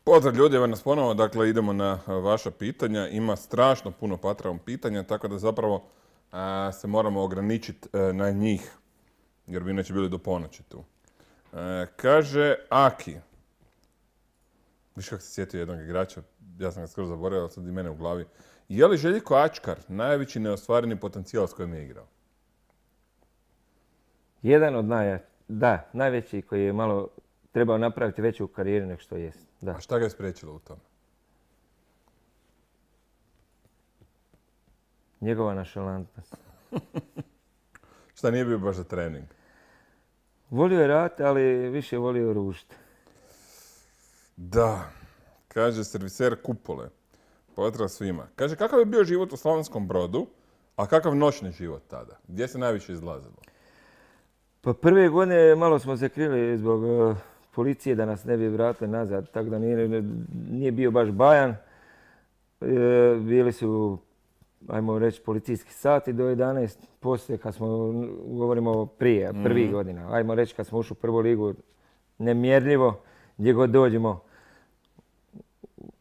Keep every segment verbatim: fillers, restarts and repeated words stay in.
Pozdrav ljudi, evo nas ponovo, dakle idemo na vaša pitanja. Ima strašno puno Patreon pitanja, tako da zapravo a, se moramo ograničiti a, na njih, jer bi inače bili do ponoći tu. A, kaže Aki, viš kako se sjetio jednog igrača, ja sam ga skoro zaboravio, ali sad i mene u glavi. Je li Željko Ačkar najveći neostvareni potencijal s kojim je igrao? Jedan od naj, da, najveći koji je malo trebao napraviti veću karijeru nego što jest. Da. A šta ga je spriječilo u tome? Njegova našalantnost. Šta nije bio baš za trening? Volio je rat, ali više volio ružiti. Da, kaže serviser Kupole. Pozdrav svima. Kaže, kakav je bio život u Slavonskom Brodu, a kakav noćni život tada? Gdje se najviše izlazilo? Pa prve godine malo smo se krili zbog uh, policije da nas ne bi vratili nazad, tako da nije, nije bio baš bajan. E, bili su, ajmo reći, policijski sati do jedanaest. Poslije, kad smo, govorimo prije, prvih mm. godina, ajmo reći kad smo ušli u prvu ligu, nemjerljivo, gdje god dođemo,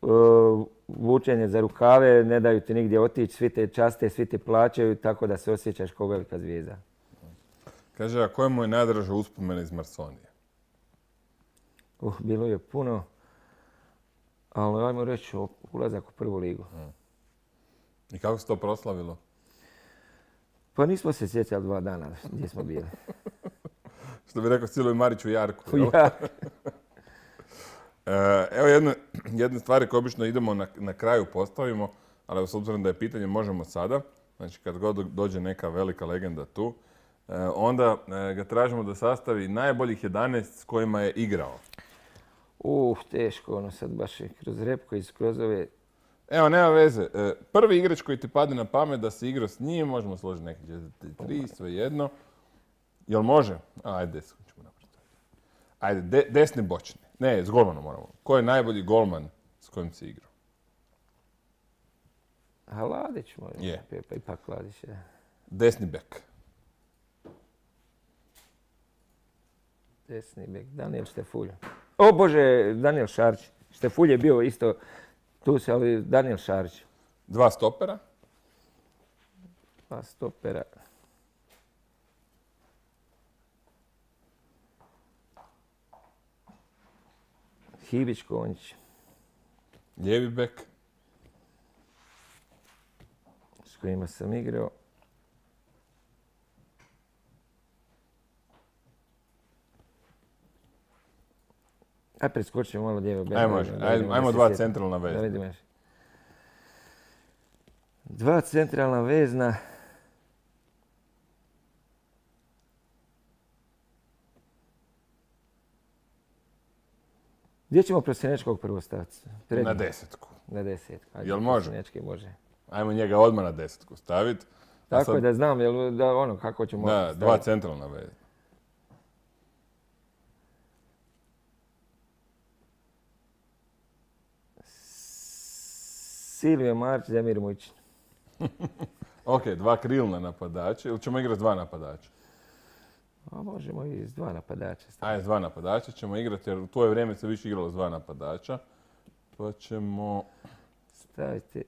uh, vučenje za rukave, ne daju ti nigdje otići, svi te časte, svi te plaćaju, tako da se osjećaš kao velika zvijezda. Kaže, a koja mu je najdraža uspomena iz Marsonije? Uh, bilo je puno, ali ajmo reći ulazak u prvu ligu. Hmm. I kako se to proslavilo? Pa nismo se sjećali dva dana gdje smo bili. Što bi rekao Siloj Marić u Jarku. U Jarku. Evo jedne, jedne stvari koje obično idemo na, na kraju postavimo, ali s obzirom da je pitanje možemo sada. Znači kad god dođe neka velika legenda tu, onda ga tražimo da sastavi najboljih jedanaest s kojima je igrao. Uh, teško, ono sad baš je kroz repko i kroz ove... Evo, nema veze. Prvi igrač koji ti padne na pamet da si igrao s njim, možemo složiti neki tri, sve jedno. Jel može? Ajde, desno ćemo napraviti. Ajde, de, desni bočni. Ne, s golmanom moramo. Ko je najbolji golman s kojim si igrao? A Ladić može. Je. Pa ipak Ladić je. Desni bek. Desni bek, Daniel Štefulj. O Bože, Daniel Šarić. Štefulj je bio isto tu se, ali Daniel Šarić. Dva stopera. Dva stopera. Hibić Konjić. Lijevi bek. S kojima sam igrao. Aj preskočimo malo lijevo bek. Ajmo, ajmo, ajmo dva centralna vezna. Da vidimo. Dva centralna vezna. Gdje ćemo Prosjenečkog prvo staviti? Na desetku. Na desetku. Ajde, jel može? Prosjenečki može. Ajmo njega odmah na desetku staviti. Tako sad... je da znam, jel, da ono, kako ćemo da, staviti. Dva centralna vezna. Silvio Marić, Zemir Mujčin. Ok, dva krilna napadača. Ili ćemo igrati dva napadača? A možemo i s dva napadača. Ajde, s dva napadača ćemo igrati, jer u tvoje vrijeme se više igralo s dva napadača. Pa ćemo... staviti...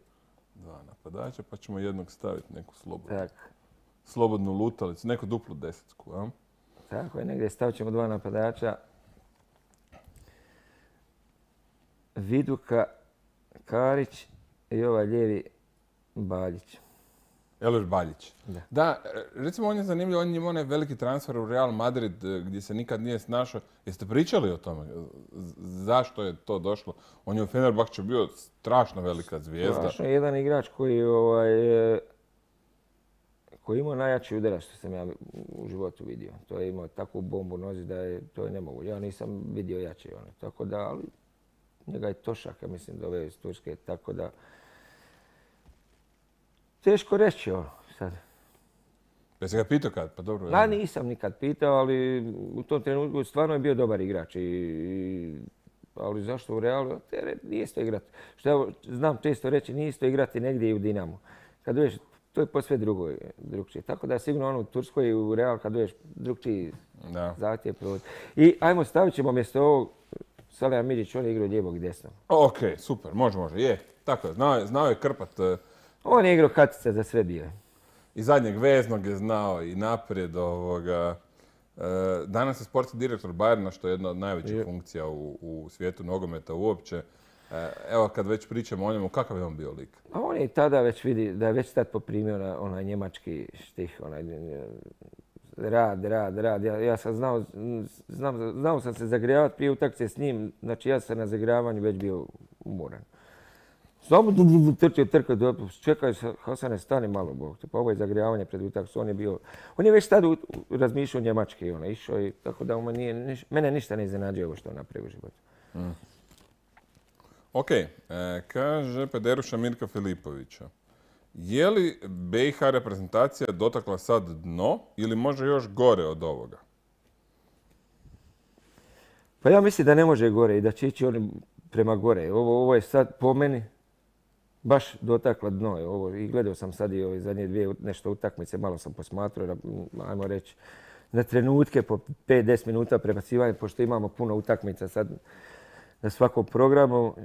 Dva napadača, pa ćemo jednog staviti neku slobodnu. Tak. Slobodnu lutalicu, neku duplu desetku, a? Tako je, negdje stavit ćemo dva napadača. Viduka, Karić i ovaj lijevi Baljić. Eloš Baljić. Da. Da, recimo on je zanimljiv, on je imao onaj veliki transfer u Real Madrid gdje se nikad nije snašao. Jeste pričali o tome? Zašto je to došlo? On je u Fenerbahču bio strašno velika zvijezda. Strašno je jedan igrač koji, ovaj, koji imao najjači udarac što sam ja u životu vidio. To je imao takvu bombu u nozi da je to je nemoguće. Ja nisam vidio jače one. Tako da, ali njega je Tošak, ja mislim, doveo iz Turske, tako da... Teško reći ovo sad. Jesi ga pitao kad? Pa dobro. Ja nisam nikad pitao, ali u tom trenutku stvarno je bio dobar igrač. I, i, ali zašto u Realu? Nije isto igrati. Što ja znam često reći, nije isto igrati negdje i u Dinamu. Kad dođeš, to je posve drugo, drugčije. Tako da sigurno ono u Turskoj i u Real kad dođeš drugčiji zahtjev provod. I ajmo stavit ćemo mjesto ovog Salija Midžić, on je igrao lijevog i desnog. Ok, super, može, može, je. Tako je, znao je, znao je krpat. Uh, On je igrao katica za sve bio. I zadnjeg veznog je znao i naprijed ovoga. Uh, danas je sportski direktor Bayerna, što je jedna od najvećih je. funkcija u, u svijetu nogometa uopće. Uh, evo, kad već pričamo o njemu, kakav je on bio lik? A on je tada već vidi, da je već tad poprimio na onaj njemački štih, onaj rad, rad, rad. Ja, ja sam znao, znam, znao sam se zagrijavati prije utakmice s njim, znači ja sam na zagravanju već bio umoran. Samo trčio, trkao, čekaj, Hasane, stani malo, Bog te, pa ovo je zagrijavanje pred utakmicu, on je bio, on je već tada razmišljao njemački, on je išao i tako da on nije, niš, mene ništa ne iznenađuje ovo što on napravio u životu. Mm. Ok, e, kaže Pederuša Mirka Filipovića. Je li B i H reprezentacija dotakla sad dno ili može još gore od ovoga? Pa ja mislim da ne može gore i da će ići oni prema gore. Ovo, ovo je sad po meni baš dotakla dno. Ovo, i gledao sam sad i ove zadnje dvije nešto utakmice, malo sam posmatrao, ajmo reći, na trenutke po pet do deset minuta prebacivanja, pošto imamo puno utakmica sad na svakom programu.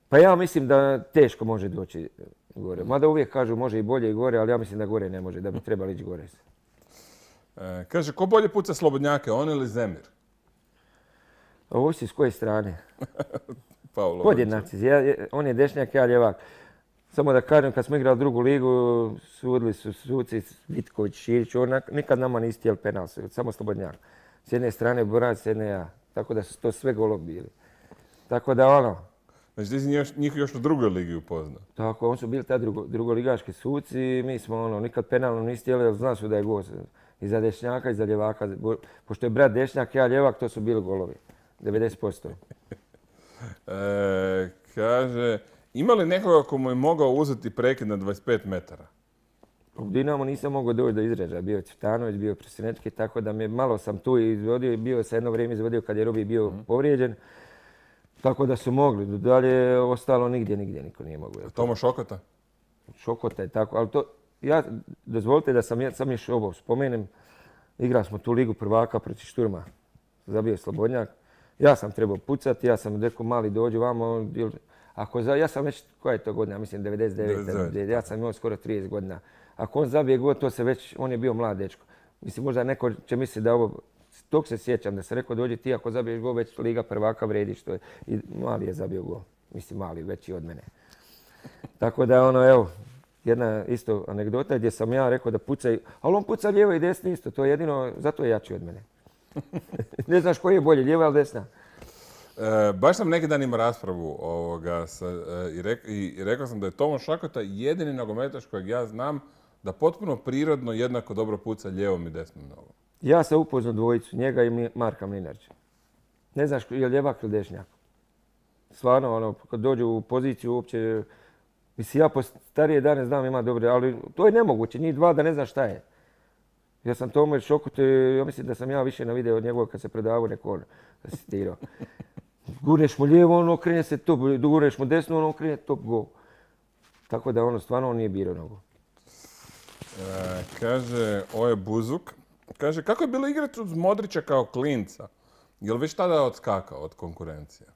Pa ja mislim da teško može doći gore. Mada uvijek kažu može i bolje i gore, ali ja mislim da gore ne može, da bi trebali ići gore. E, kaže, ko bolje puca slobodnjake, on ili Zemir? Ovo si s koje strane? Podjednaci. Ja, on je dešnjak, ja ljevak. Samo da kažem, kad smo igrali drugu ligu, sudili su suci Vitković, Širić, on nikad nama nisi htjeli penal, samo slobodnjak. S jedne strane Borac, s jedne ja. Tako da su to sve golovi bili. Tako da ono... Znači ti si njih još u drugoj ligi upoznao? Tako, oni su bili ta drugo, drugoligaški suci i mi smo ono, nikad penalno nisi htjeli, jer zna su da je gol i za dešnjaka i za ljevaka. Pošto je brat dešnjak, ja ljevak, to su bili golovi. devedeset posto. e, kaže, ima li nekoga ko mu je mogao uzeti prekid na dvadeset pet metara? U Dinamo nisam mogao doći do izražaja. Bio je Cvitanović, bio je Presinečki, tako da me malo sam tu izvodio. Bio se jedno vrijeme izvodio kad je Robi bio mm. povrijeđen. Tako da su mogli. Dalje ostalo nigdje, nigdje niko nije mogao. Tomo Šokota? Šokota je tako, ali to... Ja, dozvolite da sam, sam još ovo spomenem. Igrali smo tu ligu prvaka protiv Šturma. Zabio Slobodnjak. Ja sam trebao pucati, ja sam rekao mali dođi vamo. Ako za, ja sam već, koja je to godina, mislim devedeset devet. Ja sam imao skoro trideset godina. Ako on zabije gol, to se već, on je bio mlad dečko. Mislim, možda neko će misliti da ovo, tog se sjećam, da sam rekao dođi ti ako zabiješ gol, već liga prvaka vredi što je. I mali je zabio gol. Mislim, mali, veći od mene. Tako da ono, evo, jedna isto anegdota gdje sam ja rekao da pucaj, ali on puca lijevo i desno isto, to je jedino, zato je jači od mene. Ne znaš koji je bolje, lijeva ili desna? E, baš sam neki dan imao raspravu ovoga sa, e, i, rek, i rekao sam da je Tomo Šakota jedini nogometaš kojeg ja znam da potpuno prirodno jednako dobro puca lijevom i desnom nogom. Ja sam upoznao dvojicu, njega i Marka Mlinarića. Ne znaš je li ljevak ili dešnjak. Stvarno, ono, kad dođu u poziciju uopće, mislim, ja po starije dane znam ima dobre, ali to je nemoguće, njih dva da ne znaš šta je. Ja sam Tomo Šakote, ja mislim da sam ja više na video od njegova kad se predavao neko on asitirao. Gurneš mu lijevo, ono okrenje se top, gurneš mu desno, ono okrenje top gol. Tako da ono stvarno on nije birao nogu. E, kaže, Oje Buzuk, kaže, kako je bilo igrati uz Modrića kao klinca? Je li već tada odskakao od konkurencije?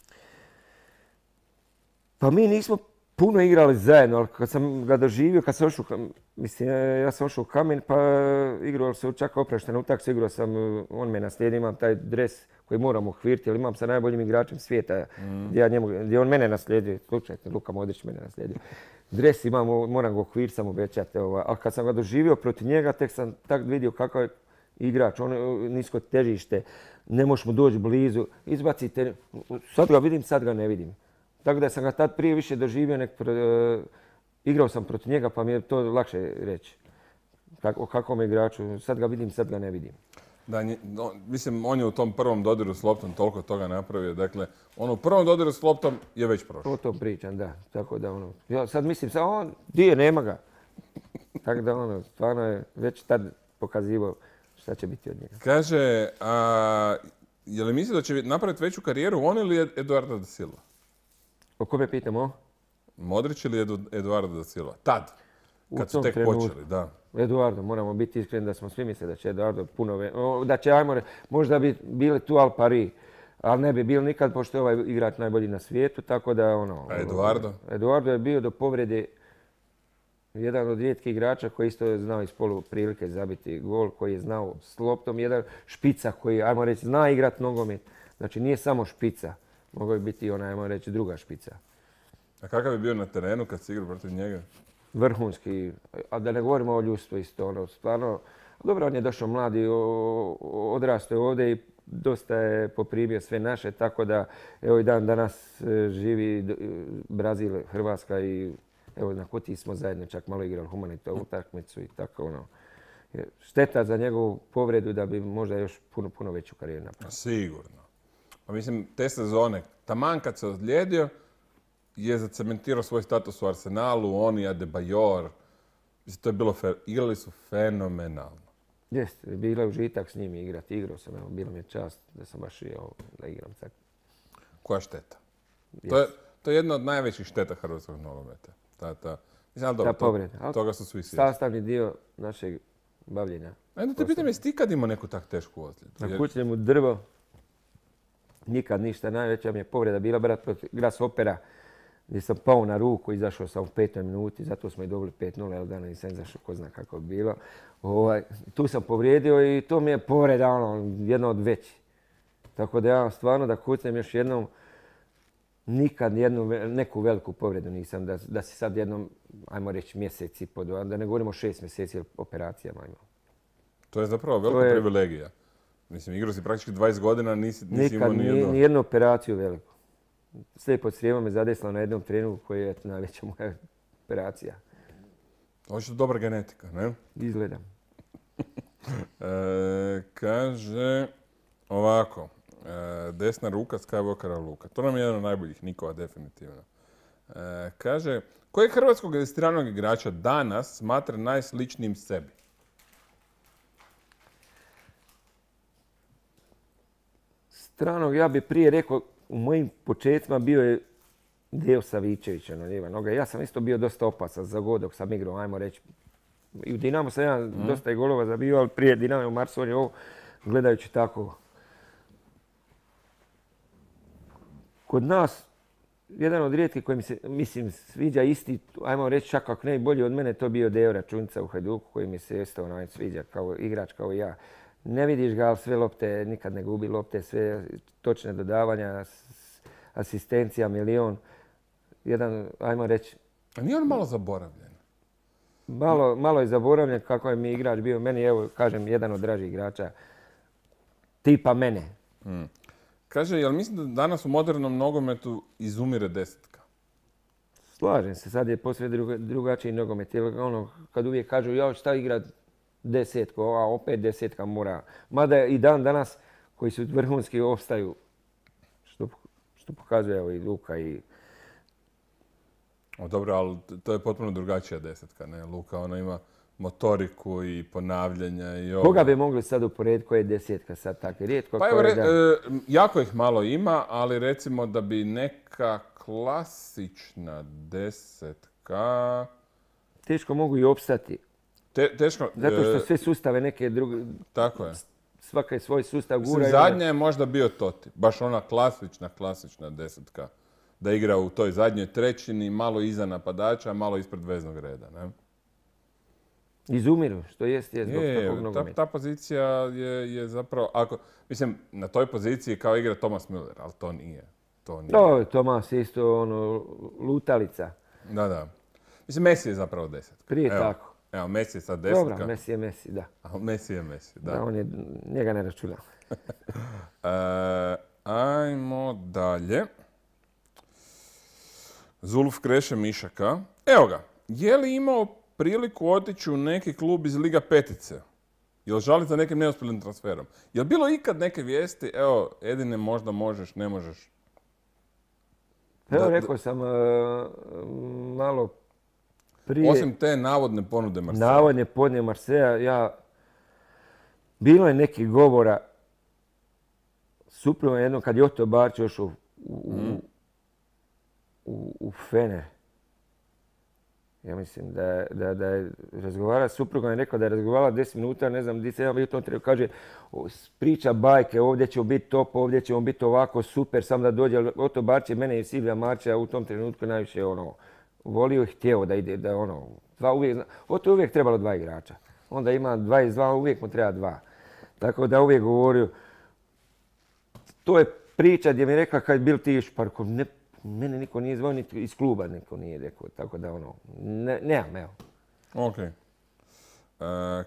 Pa mi nismo puno igrali zajedno, ali kad sam ga doživio, kad sam ošao, mislim, ja sam ošao u Kamen, pa igrao se čak oprašteno utakmicu, igrao sam, on me naslijedio, imam taj dres koji moram uhviriti, jer imam sa najboljim igračem svijeta, mm. gdje, ja njemu, gdje on mene naslijedio, slučajte, Luka Modrić mene naslijedio. Dres imam, moram ga uhviriti, sam obećati, a kad sam ga doživio protiv njega, tek sam tak vidio kakav je igrač, on nisko težište, ne možeš mu doći blizu, izbacite, sad ga vidim, sad ga ne vidim. Tako da sam ga tad prije više doživio, nek, uh, igrao sam protiv njega pa mi je to lakše reći. Kako, o kakvom igraču, sad ga vidim, sad ga ne vidim. Da, no, mislim, on je u tom prvom dodiru s loptom toliko toga napravio. Dakle, on u prvom dodiru s loptom je već prošao. O tom pričam, da. Tako da ono, ja sad mislim, sad on, di je, nema ga. Tako da ono, stvarno je već tad pokazivao šta će biti od njega. Kaže, a, je li misli da će napraviti veću karijeru on ili Eduardo da Silva? O kome pitamo? Modrić ili Edu, Eduardo da Silva? Tad, kad su tek trenutku. počeli, da. Eduardo, moramo biti iskreni da smo svi mislili da će Eduardo puno... Da će, ajmo, možda bi bile tu Al Pari, Ali ne bi bil nikad, pošto je ovaj igrač najbolji na svijetu, tako da ono... A Eduardo? Eduardo je bio do povrede jedan od rijetkih igrača koji isto je znao iz polu prilike zabiti gol, koji je znao s loptom, jedan špica koji, ajmo reći, zna igrat nogomet. Znači nije samo špica, mogao je biti ona, ajmo reći, druga špica. A kakav je bio na terenu kad si igrao protiv njega? Vrhunski, a da ne govorimo o ljudstvu isto, ono, stvarno, dobro, on je došao mladi, odrastao je ovdje i dosta je poprimio sve naše, tako da evo i dan danas živi Brazil, Hrvatska i evo na Kutiji smo zajedno čak malo igrali humanitarnu utakmicu i tako ono. Šteta za njegovu povredu da bi možda još puno, puno veću karijeru napravio. Sigurno. Pa mislim, te sezone, taman kad se ozlijedio, je zacementirao svoj status u Arsenalu, on i Adebayor. Mislim, to je bilo, igrali su fenomenalno. Jeste, bilo je užitak s njim igrati. Igrao sam, evo, bilo mi je čast da sam baš i da igram sad. Koja šteta? To je, to je jedna od najvećih šteta hrvatskog nogometa. Ta, ta, mislim, ali dobro, ta povreda. To, toga su svi svjesni. Sastavni dio našeg bavljenja. Ajde te pitam, jesi ti kad imao neku tak tešku ozljedu? Na kućnjemu drvo, nikad ništa. Najveća mi je povreda bila brat protiv Grasshoppera, gdje sam pao na ruku, izašao sam u petoj minuti, zato smo i dobili pet nula, jer dana nisam izašao, ko zna kako bi bilo. Ovaj, tu sam povrijedio i to mi je povreda, ono, jedna od većih. Tako da ja stvarno da kucnem još jednom, nikad jednu, neku veliku povredu nisam, da, da si sad jednom, ajmo reći, mjesec i po dva, da ne govorimo šest mjeseci operacijama imao. To je zapravo velika je privilegija. Mislim, igrao si praktički dvadeset godina, nisi, nisi imao nijednu... Nikad, nijednu operaciju veliku. Slijepo crijevo me zadesilo na jednom treningu koji je najveća moja operacija. Očito dobra genetika, ne? Izgledam. e, kaže ovako, e, desna ruka Skywalkera Luka. To nam je jedan od najboljih nikova, definitivno. E, kaže, kojeg hrvatskog stranog igrača danas smatra najsličnijim sebi? Stranog, ja bih prije rekao, u mojim početcima bio je Dejo Savičević na lijeva noga. Ja sam isto bio dosta opasan za god dok sam igrao, ajmo reći. I u Dinamo sam ja mm. dosta i golova zabio, ali prije Dinamo u Marsu je ovo, gledajući tako. Kod nas, jedan od rijetkih koji mi se, mislim, sviđa isti, ajmo reći čak ako ne i bolji od mene, to bio Dejo Računica u Hajduku koji mi se isto onaj sviđa kao igrač, kao i ja. Ne vidiš ga, ali sve lopte, nikad ne gubi lopte, sve točne dodavanja, asistencija, milion. Jedan, ajmo reći... A nije on malo zaboravljen? Malo, malo je zaboravljen kako je mi igrač bio. Meni, evo, kažem, jedan od dražih igrača. Tipa mene. Hmm. Kaže, jel mislim da danas u modernom nogometu izumire desetka? Slažem se, sad je posve druga, drugačiji nogomet. Jer ono, kad uvijek kažu, ja šta igrat desetko, a opet desetka mora. Mada i dan danas koji su vrhunski opstaju, što, što pokazuje evo, i Luka i... O, dobro, ali to je potpuno drugačija desetka, ne? Luka, ona ima motoriku i ponavljanja i ovo. Koga bi mogli sad uporediti koja je desetka sad tako? Rijetko pa evo, re, da... e, jako ih malo ima, ali recimo da bi neka klasična desetka... Teško mogu i opstati. Te, teško, zato što sve sustave neke druge... Tako je. Svaka je svoj sustav gura. Mislim, zadnja je možda bio Totti. Baš ona klasična, klasična desetka. Da igra u toj zadnjoj trećini, malo iza napadača, malo ispred veznog reda. Ne? Izumiru, što jest je zbog je, takvog nogometa. Ta, ta pozicija je, je zapravo... Ako, mislim, na toj poziciji kao igra Thomas Müller, ali to nije. To nije. No, Thomas je isto ono, lutalica. Da, da. Mislim, Messi je zapravo desetka. Prije Evo. tako. Evo, Messi je sad desetka. Dobro, Messi je Messi, da. A Messi je Messi, da. Da, on je, njega ne računam. e, ajmo dalje. Zulf Kreše Mišaka. Evo ga. Je li imao priliku otići u neki klub iz Liga petice? Jel žali za nekim neuspjelim transferom? Je li bilo ikad neke vijesti? Evo, Edine, možda možeš, ne možeš. Evo, da, rekao sam uh, malo prije... Osim te navodne ponude Marseja. Navodne ponude Marseja, ja... Bilo je nekih govora suprotno jedno kad je Otto Barć još u, u, mm. u, u Fener. Ja mislim da, je- da, da je razgovarala s suprugom i rekao da je razgovarala deset minuta, ne znam, di se ja bio u tom trenutku, kaže, "O, priča bajke, ovdje ćemo biti top, ovdje ćemo biti ovako, super, sam da dođe. Oto Barče, mene i Silvija Marča u tom trenutku najviše ono, volio i htjeo da ide, da ono, dva uvijek, Oto je uvijek trebalo dva igrača. Onda ima dvadeset dva, uvijek mu treba dva. Tako da uvijek govorio, to je priča gdje mi je rekla kad bil ti Šparko, ne, mene niko nije zvao, niti iz kluba niko nije rekao, tako da ono, ne, nemam, evo. Ok. E,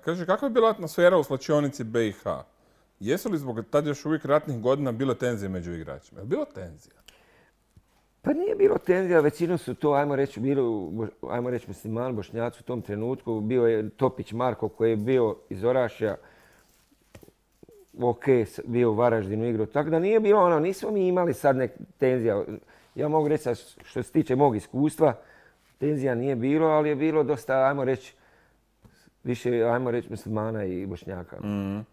kaže, kakva je bila atmosfera u slačionici B i H? Jesu li zbog tad još uvijek ratnih godina bile tenzije među igračima? Je li bilo tenzija? Pa nije bilo tenzija, većinom su to, ajmo reći, bilo, ajmo reći muslimani, Bošnjaci u tom trenutku. Bio je Topić Marko koji je bio iz Orašja, ok, bio u Varaždinu igrao. Tako da nije bilo ono, nismo mi imali sad nek tenzija. Ja mogu reći što se tiče mog iskustva, tenzija nije bilo, ali je bilo dosta, ajmo reći, više, ajmo reći, muslimana i Bošnjaka. Mm.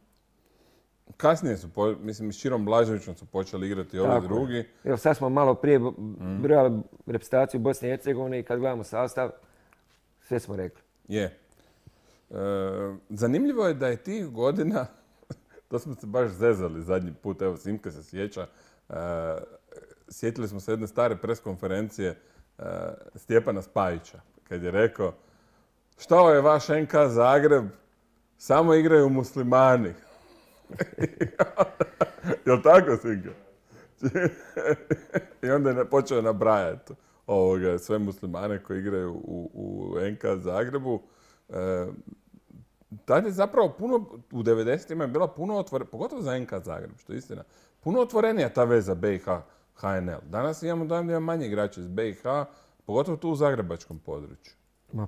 Kasnije su, po, mislim, s Čirom Blaževićem su počeli igrati ovi Tako drugi. je. Evo sad smo malo prije brojali reprezentaciju Bosne i Hercegovine i kad gledamo sastav, sve smo rekli. Je. E, zanimljivo je da je tih godina, to smo se baš zezali zadnji put, evo Simka se sjeća, e, sjetili smo se jedne stare preskonferencije e, Stjepana Spajića, kad je rekao, što je vaš N K Zagreb, samo igraju muslimani. Jel' tako, Sinka? I onda je počeo nabrajati ovoga, sve muslimane koji igraju u, u N K Zagrebu. E, tad je zapravo puno, u devedesetima je bila puno otvorenija, pogotovo za N K Zagreb, što je istina, puno otvorenija ta veza B i H H N L. Danas imamo dojam da ima manje igrača iz B i H, pogotovo tu u zagrebačkom području. Ma,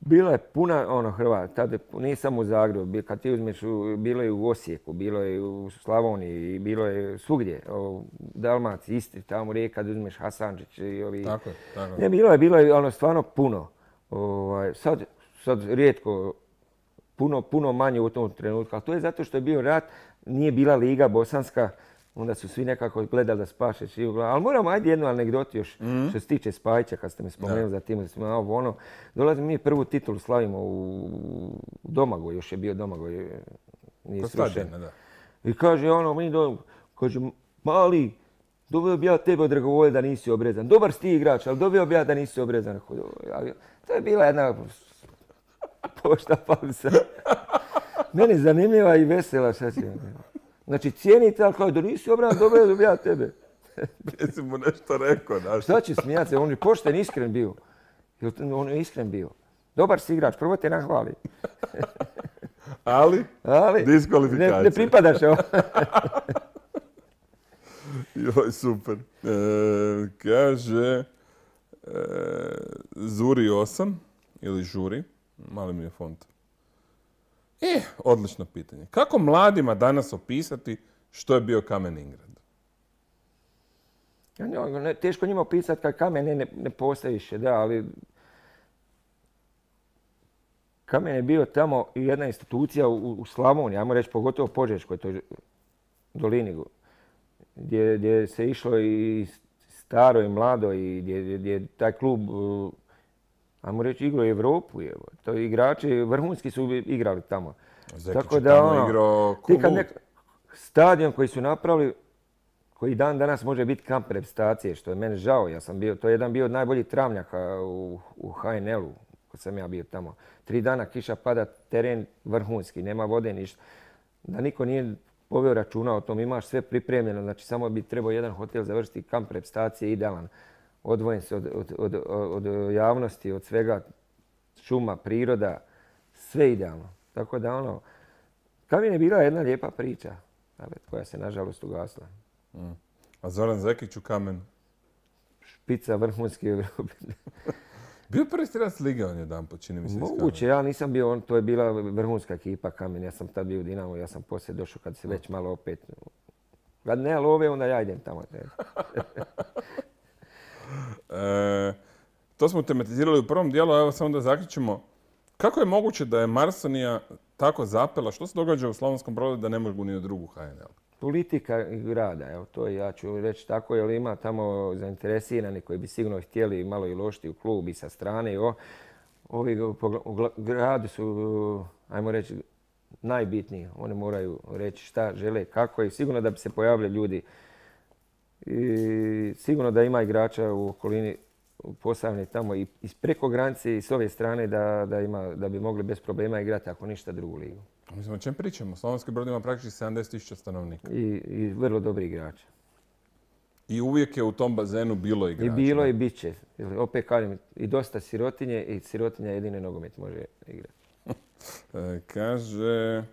bila je puna ono Hrvata, tada nije samo u Zagrebu, kad ti uzmeš, bilo je u Osijeku, bilo je u Slavoniji, bilo je svugdje, u Dalmaciji, Istri, tamo Rijeka, kad uzmeš Hasančić i ovi... Tako je, tako je. Ne, bilo je, bilo je ono stvarno puno. Ovaj, sad, sad rijetko, puno, puno manje u tom trenutku, ali to je zato što je bio rat, nije bila Liga Bosanska, onda su svi nekako gledali da spaše svi u glavu. Ali moramo, ajde jednu anegdotu još mm. što se tiče Spajića, kad ste me spomenuli za tim, da smo ovo ono. Dolazimo mi prvu titulu slavimo u Domagoj, još je bio Domagoj, nije srušen. Da. I kaže ono, mi do, kaže, mali, doveo bi ja tebe od Dragovolje da nisi obrezan. Dobar si ti igrač, ali doveo bi ja da nisi obrezan. To je bila jedna pošta pauza. Meni zanimljiva i vesela, šta će. Znači, cijenite, ali kao da nisi obran, dobro da ja tebe. Jesi mu nešto rekao, znaš? Šta će smijati se? On je pošten, iskren bio. On je iskren bio. Dobar si igrač, prvo te nahvali. Ali, ali diskvalifikacija. Ne, ne pripadaš ovo. Joj, super. E, kaže, e, Zuri osam, ili Žuri, mali mi je font. E, odlično pitanje. Kako mladima danas opisati što je bio Kamen Ingrad? Ja, teško njima opisati kad Kamen ne, ne, ne postoji više, da, ali Kamen je bio tamo i jedna institucija u, u Slavoniji, ajmo reći pogotovo Požeškoj toj dolini, gdje, gdje se išlo i staro i mlado i gdje, gdje taj klub, ajmo reći, igrao Evropu. Evo. To igrači vrhunski su igrali tamo. Zekić tako da, tamo ono, igrao nek, stadion koji su napravili, koji dan danas može biti kamp reprezentacije, što je meni žao. Ja sam bio, to je jedan bio od najboljih travnjaka u, u H N L-u, kad sam ja bio tamo. Tri dana kiša pada, teren vrhunski, nema vode, ništa. Da niko nije poveo računa o tom, imaš sve pripremljeno, znači samo bi trebao jedan hotel završiti, kamp reprezentacije idealan. Odvojen se od, od, od, od javnosti, od svega, šuma, priroda, sve idealno. Tako da ono, Kamen je bila jedna lijepa priča, koja se nažalost ugasla. Mm. A Zoran Zekić u Kamenu? Špica vrhunski u Evropi. Bio prvi strelac lige on jedan po, čini mi se. Moguće, ja nisam bio, on, to je bila vrhunska ekipa Kamen. Ja sam tad bio u Dinamo, ja sam poslije došao kad se već malo opet... Kad ne love, onda ja idem tamo. e, to smo tematizirali u prvom dijelu, a evo samo da zaključimo. Kako je moguće da je Marsonija tako zapela? Što se događa u Slavonskom Brodu da ne mogu ni u drugu H N L? politika grada, evo to ja ću reći tako, jer ima tamo zainteresirani koji bi sigurno htjeli malo i uložiti u klub i sa strane. I o, ovi u gradu su, ajmo reći, najbitniji. Oni moraju reći šta žele, kako i sigurno da bi se pojavili ljudi. I sigurno da ima igrača u okolini Posavine tamo i preko granice i s ove strane da, da, ima, da bi mogli bez problema igrati ako ništa drugu ligu. Mislim, o čem pričamo? Slavonski Brod ima praktički sedamdeset tisuća stanovnika. I, I vrlo dobri igrači. I uvijek je u tom bazenu bilo igrača. I bilo ne? I bit će. Opet kažem, i dosta sirotinje i sirotinja jedine nogomet može igrati. e, kaže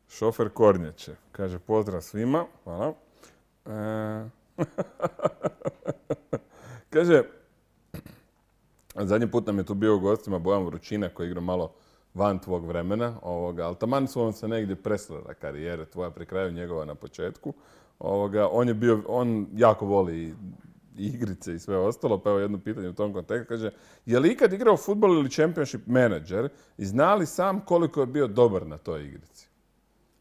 šofer Kornjače. Kaže pozdrav svima. Hvala. E, kaže, zadnji put nam je tu bio u gostima Bojan Vrućina koji igra malo van tvog vremena, ovoga, ali taman su on se negdje presrela karijere tvoja pri kraju njegova na početku. Ovoga, on je bio, on jako voli i igrice i sve ostalo, pa evo jedno pitanje u tom kontekstu. Kaže, je li ikad igrao fudbal ili championship manager i zna li sam koliko je bio dobar na toj igrici?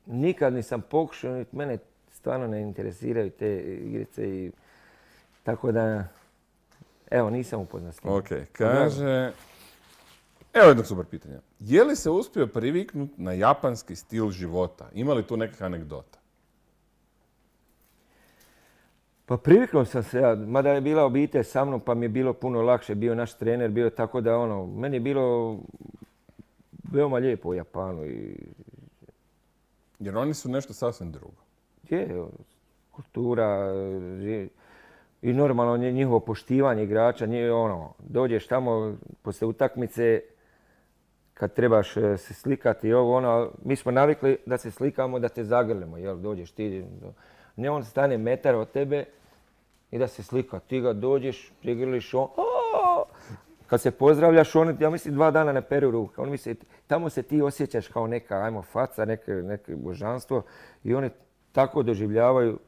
Nikad nisam pokušao, mene stvarno ne interesiraju te igrice i tako da, evo, nisam upoznat s tim. Ok, kaže, evo jednog super pitanja. Je li se uspio priviknuti na japanski stil života? Ima li tu nekih anegdota? Pa priviknuo sam se ja, mada je bila obitelj sa mnom pa mi je bilo puno lakše, bio naš trener, bio tako da ono, meni je bilo veoma lijepo u Japanu. I... Jer oni su nešto sasvim drugo. Je, kultura i normalno njihovo poštivanje igrača, nije ono, dođeš tamo poslije utakmice kad trebaš se slikati i ovo ono, mi smo navikli da se slikamo, da te zagrlimo, jel, dođeš ti, ne on stane metar od tebe i da se slika, ti ga dođeš, prigrliš on, o! Kad se pozdravljaš, on, ja mislim, dva dana ne peru ruke, on misli, tamo se ti osjećaš kao neka, ajmo, faca, neke, neke božanstvo i oni tako doživljavaju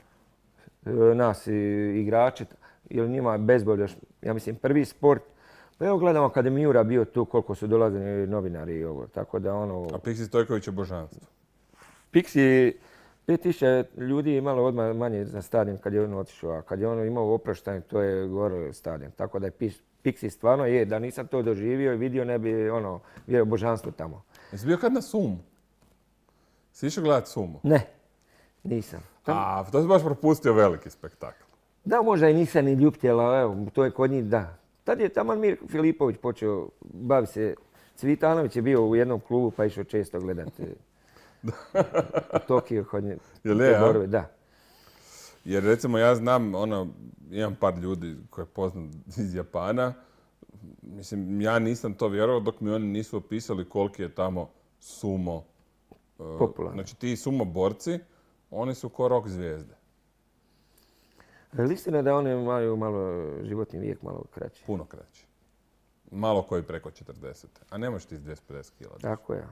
nas igrače, jer njima je bejzbol još, ja mislim, prvi sport. Pa evo gledamo kada je Miura bio tu, koliko su dolazili novinari i ovo, tako da ono... A Piksi Stojković je božanstvo? Piksi, pet tisuća ljudi je imalo odmah manje za stadion kad je on otišao, a kad je on imao oproštaj, to je gore stadion. Tako da je Piksi stvarno je, da nisam to doživio i vidio, ne bi ono, bio božanstvo tamo. Jesi bio kad na Sumu? Si išao gledati Sumu? Ne, nisam. Tam... A, to si baš propustio veliki spektakl. Da, možda i nisam ni ljuptjela, evo, to je kod njih, da. Tad je tamo Mir Filipović počeo bavi se. Cvitanović je bio u jednom klubu pa išao često gledati u Tokiju kod nje. Jel je, a? Da. Jer recimo ja znam, ono, imam par ljudi koje poznam iz Japana. Mislim, ja nisam to vjerovao dok mi oni nisu opisali koliki je tamo sumo. Popularno. Znači ti sumo borci, oni su ko rock zvijezde. Ali istina da oni imaju malo životni vijek, malo kraći. Puno kraći. Malo koji preko četrdeset. A ne možeš ti s dvjesto pedeset kila. Tako je.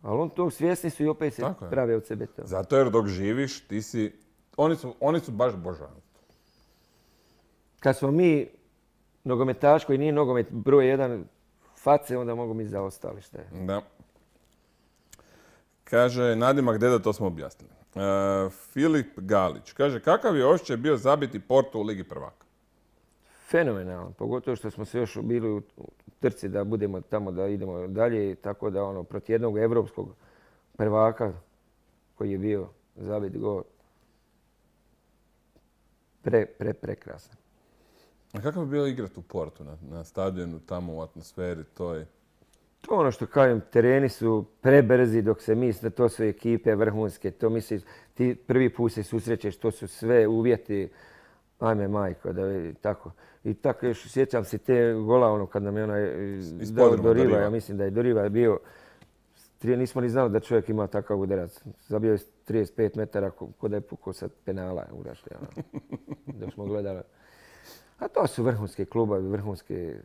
Ali on to svjesni su i opet se prave od sebe to. Zato jer dok živiš, ti si... Oni su, oni su baš božanstvo. Kad smo mi nogometaš koji nije nogomet broj jedan face, onda mogu mi zaostali šta je. Da. Kaže, nadimak deda, to smo objasnili. Uh, Filip Galić kaže, kakav je osjećaj bio zabiti Porto u Ligi prvaka? Fenomenalno, pogotovo što smo se još bili u trci da budemo tamo, da idemo dalje, tako da ono, protiv jednog evropskog prvaka koji je bio zabit gol, pre, pre, prekrasan. A kako bi bilo igrati u Portu, na, na stadionu, tamo u atmosferi toj? To ono što kažem, tereni su prebrzi dok se misli, to su ekipe vrhunske, to misli, ti prvi put se susrećeš, to su sve uvjeti, ajme majko, da je tako. I tako još sjećam se te gola, ono, kad nam je onaj dao Doriva, ja mislim da je Doriva bio, nismo ni znali da čovjek ima takav udarac. Zabio je trideset pet metara, ko da je pukao sa penala, urašli, ono, dok smo gledali. A to su vrhunske klubovi, vrhunske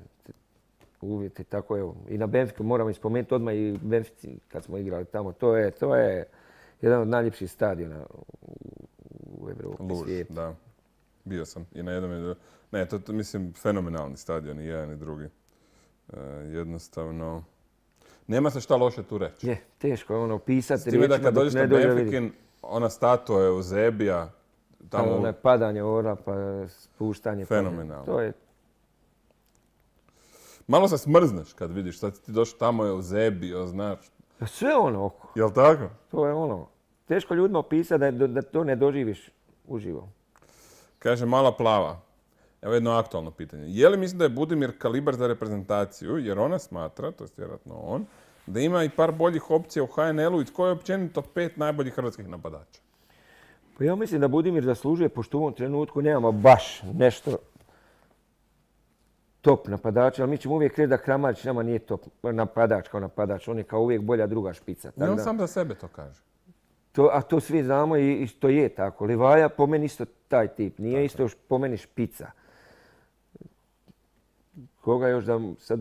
uvjeti, tako evo. I na Benfiku moramo spomenuti odmah i Benfici kad smo igrali tamo. To je, to je jedan od najljepših stadiona u Evropi, Luž, svijetu. Da. Bio sam i na jednom i drugom. Ne, to je, mislim, fenomenalni stadion i jedan i drugi. E, jednostavno, nema se šta loše tu reći. Je, teško je ono pisati. S time da kad dođeš na Benfikin, ona statua Eusebija, Tamo tamo ono padanje ora pa spuštanje. fenomenalno. To je, Malo se smrzneš kad vidiš, sad ti došao tamo Eusebio, znaš. sve ono oko. Jel tako? To je ono. Teško ljudima opisati da, da to ne doživiš uživo. Kaže Mala Plava. Evo jedno aktualno pitanje. Je li mislim da je Budimir kalibar za reprezentaciju, jer ona smatra, to je vjerojatno on, da ima i par boljih opcija u H N L-u i tko je općenito pet najboljih hrvatskih napadača? Pa ja mislim da Budimir zaslužuje, pošto u ovom trenutku nemamo baš nešto top napadača, ali mi ćemo uvijek reći da Kramarić nama nije top napadač kao napadač. On je kao uvijek bolja druga špica. I on da, sam za sebe to kaže. To, a to svi znamo i, i to je tako. Livaja po meni isto taj tip. Nije tako. Isto po meni špica. Koga još da sad...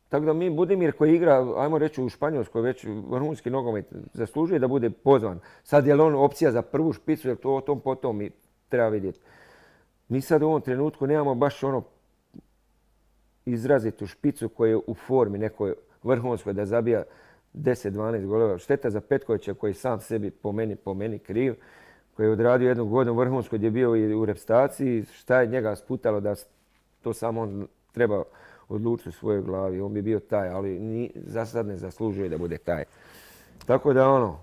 Tako da mi Budimir koji igra, ajmo reći u Španjolskoj, već vrhunski nogomet, zaslužuje da bude pozvan. Sad je li on opcija za prvu špicu, jer to o tom potom mi treba vidjeti. Mi sad u ovom trenutku nemamo baš ono izrazitu špicu koja je u formi nekoj vrhunskoj da zabija deset dvanaest golova. Šteta za Petkovića koji sam sebi po meni, po meni kriv, koji je odradio jednu godinu vrhunskoj gdje je bio i u repstaciji. Šta je njega sputalo da to samo on treba odlučiti u svojoj glavi. On bi bio taj, ali ni, za sad ne zaslužuje da bude taj. Tako da ono,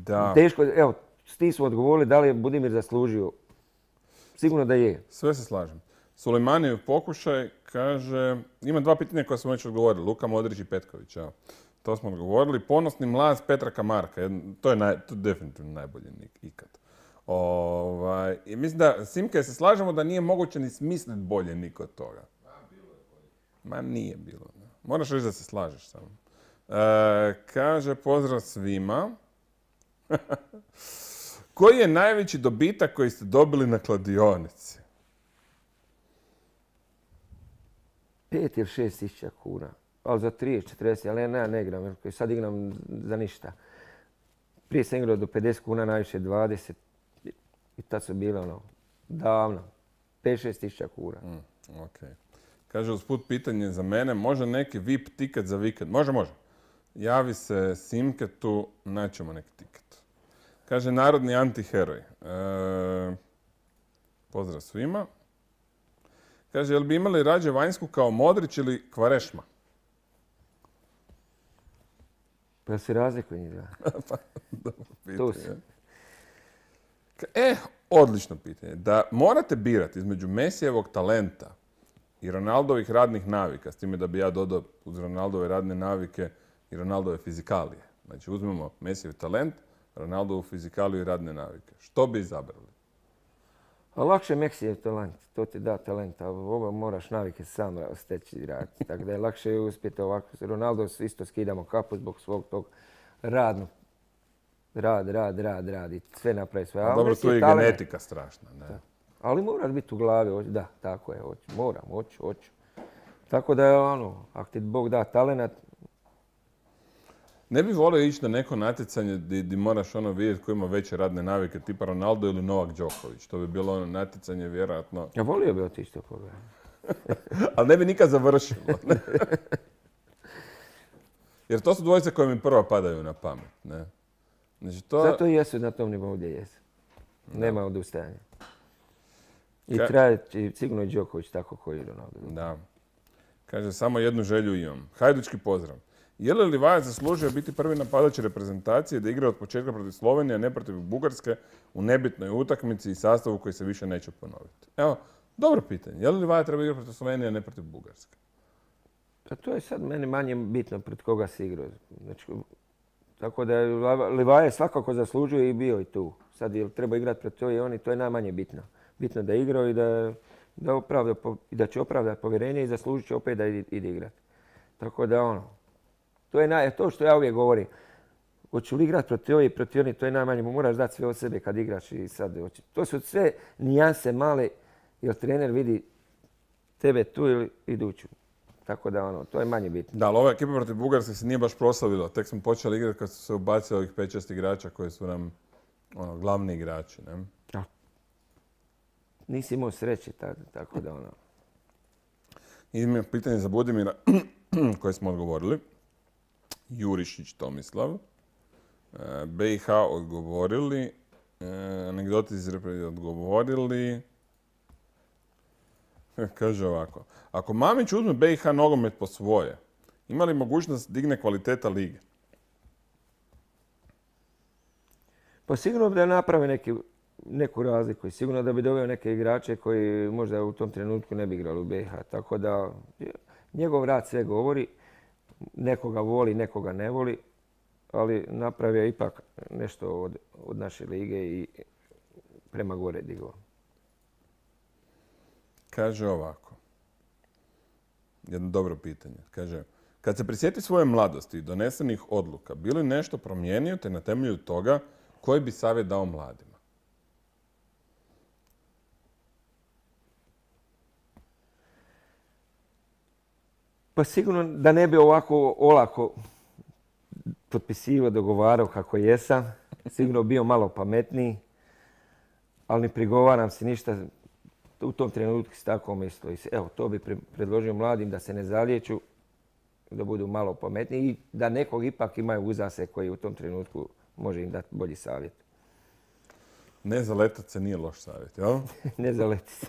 da. Teško, evo, s tim smo odgovorili da li je Budimir zaslužio. Sigurno da je. Sve se slažem. Sulejmanijev pokušaj kaže, ima dva pitanja koja smo već odgovorili, Luka Modrić i Petković. Evo. To smo odgovorili. Ponosni mlaz Petra Kamarka. To je, naj, to je definitivno najbolji nik ikad. Ovaj, i mislim da, Simke, se slažemo da nije moguće ni smisliti bolje nik od toga. Ma nije bilo. Ne. Moraš reći da se slažeš samo. E, kaže, pozdrav svima. Koji je najveći dobitak koji ste dobili na kladionici? Pet ili šest tisuća kuna. Ali za trideset, četrdeset, ali ja ne igram, jer sad igram za ništa. Prije sam igrao do pedeset kuna, najviše dvadeset. I tad su bile ono, davno. pet šest tisuća kuna. Mm, ok. Kaže, usput pitanje za mene, može neki V I P tiket za vikend? Može, može. Javi se Simketu, naćemo neki tiket. Kaže, narodni antiheroj. E, pozdrav svima. Kaže, jel bi imali rađe Vanjsku kao Modrić ili Kvarešma? Pa se razlikuje njih, da. Pa, dobro pitanje. To se. E, odlično pitanje. Da morate birati između Mesijevog talenta i Ronaldovih radnih navika, s time da bi ja dodao uz Ronaldove radne navike i Ronaldove fizikalije. Znači, uzmemo Mesijev talent, Ronaldovu fizikaliju i radne navike. Što bi izabrali? A lakše Mesijev talent, to ti da talent, a ovo moraš navike sam steći i raditi. Tako da je lakše uspjeti ovako. Ronaldo isto skidamo kapu zbog svog tog radnog. Rad, rad, rad, rad i sve napravi sve. A dobro, tu je i genetika strašna. Ne? Da. Ali moraš biti u glavi, da, tako je, hoću, moram, hoću, hoću. Tako da je ono, ako ti Bog da talent. Ne bi volio ići na neko natjecanje gdje moraš ono vidjeti ko ima veće radne navike, tipa Ronaldo ili Novak Đoković. To bi bilo ono natjecanje vjerojatno. Ja volio bi otići to pogledati. Ali ne bi nikad završilo. Ne? Jer to su dvojice koje mi prvo padaju na pamet. Ne? Znači, to... Zato i jesu na tom nivou gdje jesu. Nema odustajanja. I Ka... traje sigurno i Đoković tako koji je Ronaldo. Da. Kaže, samo jednu želju imam. Hajdučki pozdrav. Je li Livaja zaslužio biti prvi napadač reprezentacije da igra od početka protiv Slovenije, a ne protiv Bugarske u nebitnoj utakmici i sastavu koji se više neće ponoviti? Evo, dobro pitanje. Je li Livaja treba igrati protiv Slovenije, a ne protiv Bugarske? Pa to je sad meni manje bitno pred koga se igrao. Znači, tako da Livaja svakako zaslužuje i bio i tu. Sad je li treba igrati pred to i oni, to je najmanje bitno. Bitno da igrao i da, da, opravda, i da će opravdati povjerenje i zaslužit će opet da ide igrati. Tako da ono, to je naj, to što ja uvijek govorim. Hoću li igrati protiv ovi i protiv oni, to je najmanje. Moraš dati sve od sebe kad igraš i sad. To su sve nijanse male, jer trener vidi tebe tu ili iduću. Tako da ono, to je manje bitno. Da, ali ova ekipa protiv Bugarske se nije baš proslavila. Tek smo počeli igrati kad su se ubacili ovih pet šest igrača koji su nam ono, glavni igrači. Ne? Ja. Nisi imao sreće tada, tako da ono. Imam pitanje za Budimira koje smo odgovorili. Jurišić Tomislav. B i H odgovorili, anegdoti iz reprezentacije odgovorili. Kaže ovako, ako Mamić uzme B i H nogomet po svoje, ima li mogućnost digne kvaliteta lige? Pa sigurno da napravi neki, neku razliku i sigurno da bi doveo neke igrače koji možda u tom trenutku ne bi igrali u B i H. Tako da njegov rad sve govori, nekoga voli, nekoga ne voli, ali napravio ipak nešto od, od naše lige i prema gore digao. Kaže ovako, jedno dobro pitanje. Kaže, kad se prisjeti svoje mladosti i donesenih odluka, bi li nešto promijenio te na temelju toga koji bi savjet dao mladima? Pa sigurno da ne bi ovako olako potpisivao, dogovarao kako jesam. Sigurno bio malo pametniji, ali ne prigovaram se ništa. U tom trenutku se tako mislio. Evo, to bi predložio mladim da se ne zaliječu, da budu malo pametniji i da nekog ipak imaju uza se koji u tom trenutku može im dati bolji savjet. Ne zaletat se nije loš savjet, jel? Ne zaleti se.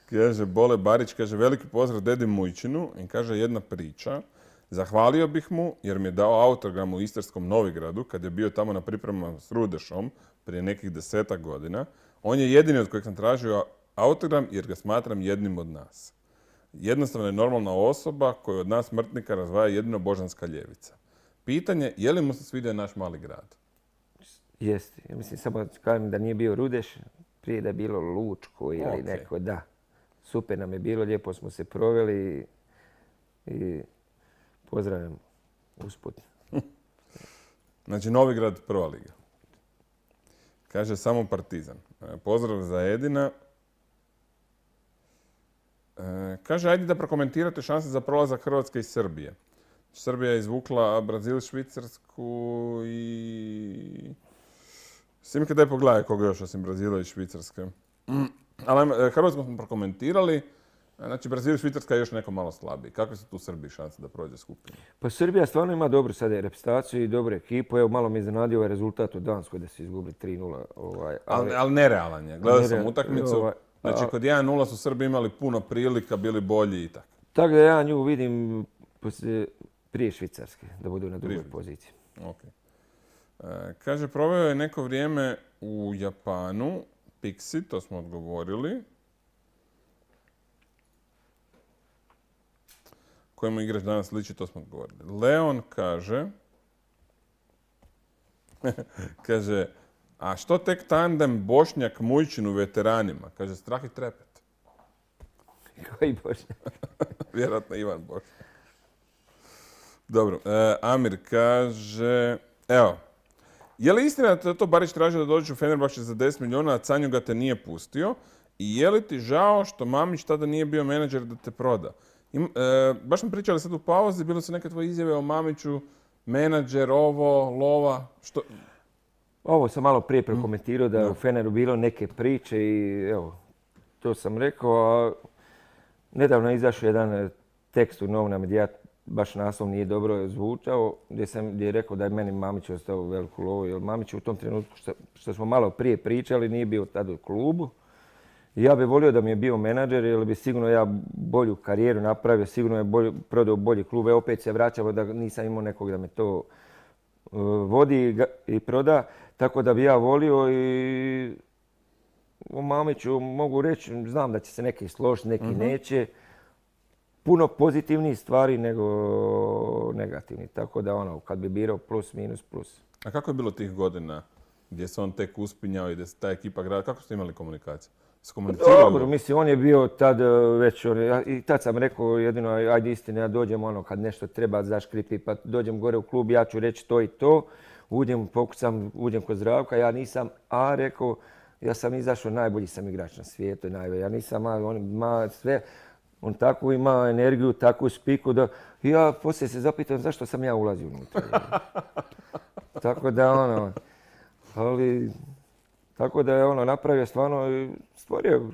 Kaže Bole Barić, kaže veliki pozdrav dedi Mujčinu i kaže jedna priča. Zahvalio bih mu jer mi je dao autogram u Istarskom Novigradu kad je bio tamo na pripremama s Rudešom prije nekih desetak godina. On je jedini od kojeg sam tražio autogram jer ga smatram jednim od nas. Jednostavno je normalna osoba koju od nas smrtnika razdvaja jedino božanska ljevica. Pitanje, je li mu se svidio naš mali grad? Jeste. Ja mislim samo kažem da nije bio Rudeš, prije da je bilo Lučko ili okay. neko, da. Super nam je bilo, lijepo smo se proveli i, i pozdravljam usput. Znači Novigrad prva liga. Kaže samo Partizan. Pozdrav za Edina. Kaže, ajde da prokomentirate šanse za prolazak Hrvatske i Srbije. Srbija je izvukla Brazil, Švicarsku i... Simke, daj pogledaj koga još osim Brazila i Švicarske. Ali Hrvatsku smo prokomentirali. Znači, Brazil i Švicarska je još neko malo slabiji. Kakve su tu Srbiji šanse da prođe skupinu? Pa Srbija stvarno ima dobru sada reprezentaciju i dobru ekipu. Evo, malo mi iznenadio ovaj rezultat u Danskoj da su izgubili tri nula. Ovaj, ali, ali nerealan je. Gledao sam utakmicu. Ovaj, Znači, kod jedan nula su Srbi imali puno prilika, bili bolji i tako. Tako da ja nju vidim prije Švicarske, da budu na drugoj poziciji. Okay. E, kaže, proveo je neko vrijeme u Japanu. Pixi, to smo odgovorili. Kojemu igrač danas liči, to smo odgovorili. Leon kaže... kaže... A što tek tandem Bošnjak-Mujčin u veteranima? Kaže, strah i trepet. Koji Bošnjak? Vjerojatno Ivan Bošnjak. Dobro, e, Amir kaže... Evo, je li istina da to Barić tražio da dođeš u Fenerbahče za deset milijuna, a Canju ga te nije pustio? I je li ti žao što Mamić tada nije bio menadžer da te proda? I, e, baš smo pričali sad u pauzi, bilo su neke tvoje izjave o Mamiću, menadžer, ovo, lova, što... Ovo sam malo prije prokomentirao da je u Feneru bilo neke priče i evo, to sam rekao. A nedavno je izašao jedan tekst u novinama gdje ja baš naslov nije dobro zvučao, gdje sam gdje je rekao da je meni Mamić ostao veliku lovu. Jer Mamić u tom trenutku što, što smo malo prije pričali nije bio tada u klubu. I ja bih volio da mi je bio menadžer jer bi sigurno ja bolju karijeru napravio, sigurno je bolj, prodao bolji klub. Evo opet se vraćamo da nisam imao nekog da me to uh, vodi i proda. Tako da bi ja volio i o Mamiću mogu reći, znam da će se neki složiti, neki uh-huh. neće. Puno pozitivnijih stvari nego negativnih. Tako da ono, kad bi birao plus, minus, plus. A kako je bilo tih godina gdje se on tek uspinjao i da se ta ekipa grada? Kako ste imali komunikaciju? Dobro, mislim, on je bio tad već, on, i tad sam rekao jedino, ajde istine, ja dođem ono kad nešto treba zaškripi, pa dođem gore u klub, ja ću reći to i to. Uđem, pokucam, uđem kod Zdravka, ja nisam, a rekao, ja sam izašao, najbolji sam igrač na svijetu, najbolji. Ja nisam, on ima sve, on tako ima energiju, takvu spiku da, ja poslije se zapitam zašto sam ja ulazio unutra. Tako da ono, ali, tako da je ono napravio stvarno, stvorio,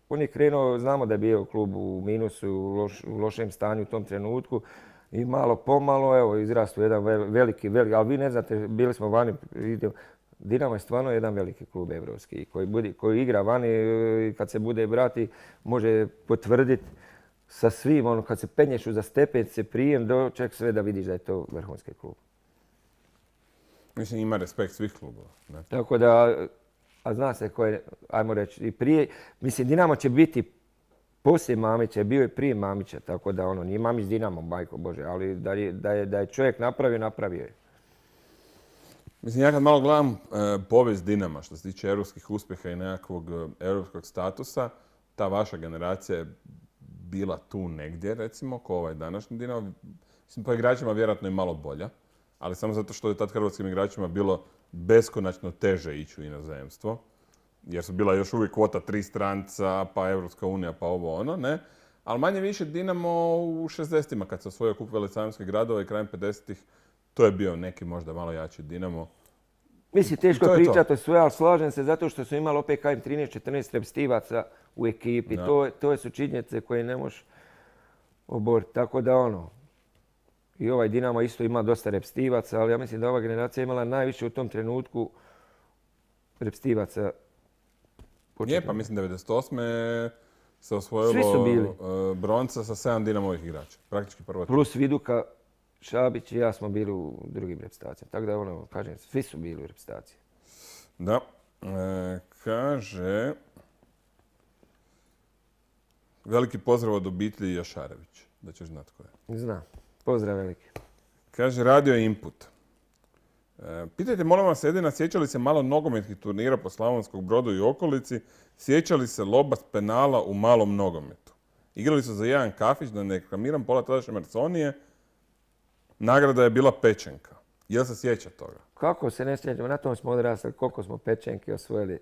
on je krenuo, znamo da je bio klub u minusu, u, loš, u lošem stanju u tom trenutku. I malo pomalo, evo, izrastu jedan veliki, veliki, ali vi ne znate, bili smo vani, Dinamo je stvarno jedan veliki klub evropski koji, budi, koji igra vani i kad se bude brati može potvrditi sa svim, ono, kad se penješ uza stepenice, prijem, doček sve da vidiš da je to vrhunski klub. Mislim, ima respekt svih klubova. Ne? Tako da, a zna se ko je, ajmo reći, i prije, mislim, Dinamo će biti poslije Mamića, bio je prije Mamića, tako da ono, nije Mamić Dinamo, majko Bože, ali da je, da je, da je čovjek napravio, napravio je. Mislim, ja kad malo gledam e, povijest Dinama što se tiče europskih uspjeha i nekakvog e, europskog statusa, ta vaša generacija je bila tu negdje, recimo, ko ovaj današnji Dinamo. Mislim, po igračima vjerojatno je malo bolja, ali samo zato što je tad hrvatskim igračima bilo beskonačno teže ići u inozemstvo, jer su bila još uvijek kvota tri stranca, pa Evropska unija, pa ovo ono, ne. Ali manje više Dinamo u šezdesetima kad se osvojio kup velecajanskih gradova i krajem pedesetih, to je bio neki možda malo jači Dinamo. Mislim, teško je pričati o sve, ali slažem se zato što su imali opet kažem trinaest četrnaest repstivaca u ekipi. Da. To, to su činjenice koje ne možeš oboriti. Tako da ono, i ovaj Dinamo isto ima dosta repstivaca, ali ja mislim da ova generacija imala najviše u tom trenutku repstivaca. Je, pa mislim devedeset osme se osvojilo Svi su bili. bronca sa sedam Dinamovih igrača. Praktički prvo. Plus Viduka, Šabić i ja smo bili u drugim reprezentacijama. Tako da ono, kažem, svi su bili u reprezentaciji. Da. E, kaže... Veliki pozdrav od obitelji Jašarević. Da ćeš znat ko je. Znam. Pozdrav veliki. Kaže Radio Input. E, pitajte, molim vas, Edina, sjeća li se malo nogometnih turnira po Slavonskog Brodu i okolici? Sjeća li se loba s penala u malom nogometu? Igrali su za jedan kafić, da ne reklamiram, pola tadašnje Marsonije. Nagrada je bila pečenka. Jel se sjeća toga? Kako se ne sjećamo? Na tom smo odrasli, koliko smo pečenki osvojili.